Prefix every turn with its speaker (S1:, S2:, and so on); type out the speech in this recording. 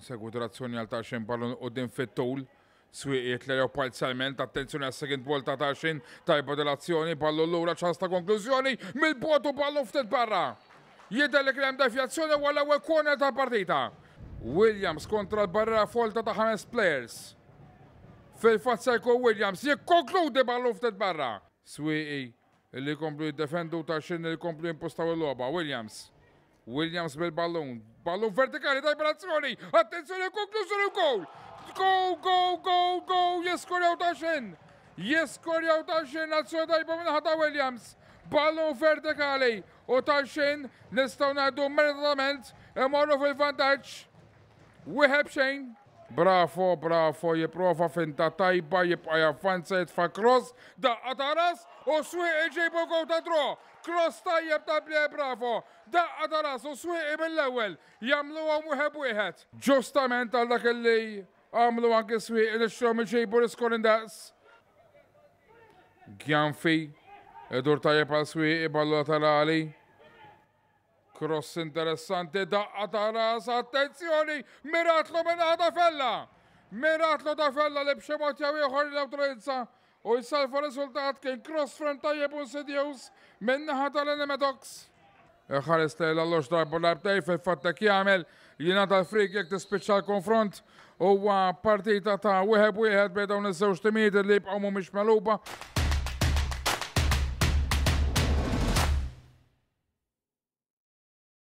S1: Insegwu direzzjoni għal Tarxien ballun quddiem fit-tul. Swieqi jitlew parzjalment, attenzjoni għas second ball ta' Tarxien, tajba dil-azzjoni, ballun lura ċans ta' konklużjoni, mill-bogħod u ballun ftit barra. Jidher li kien hemm devjazzjoni u għall-ewwel corner tal-partita. Williams kontra l-barriera folta ta' ħames players. Fil-fatt se jkun Williams jikkonkludi ballun ftit barra. Swieqi li jkomplu jiddefendu Tarxien li jkomplu jimpostaw il-logħba. Williams. Williams bil-ballun. Ballun vertikali tajba l-azzjoni. Attenzjoni konklużjoni goal. Go, go, go, go. Jiskorjaw Tarxien. Jiskorjaw Tarxien azzjoni tajba minn ta' Williams. Ballun vertikali u Tarxien nistgħu ngħidu meritatament imorru fil-vantaġġ. 1-0. Bravo, bravo, jipprova finta tajba, jibqa' javvanza jitfa' cross, daqqa ta' ras u Swieqi jġibu goal ta' draw. Cross tajjeb ta' Blair Bravo, daqqa ta' ras u Swieqi mill-ewwel jagħmluhom 1-1. Ġustament għal dak li għamlu anki Swieqi nixtruhom iġibu l-iskor indaqs. Gjanfi, idur tajjeb għal Swieqi ballu laterali. Cross interessanti, daqqa ta' ras, attenzjoni, miratlu minn ta' Fella. Miratlu ta' Fella li b'xi mod jew ieħor neutralizza u jsalva riżultat kien cross frame tajjeb insidjuż minn naħa tal-Enemetox. Ħares lejn l-alloġ darba darbtej fil-fatt hekk jagħmel jingħata l-free kick tispiċċa l-konfront. Huwa partita ta' 1-1 bejn dawn iż-żewġ timijiet li jibqgħu mhumiex megħluba.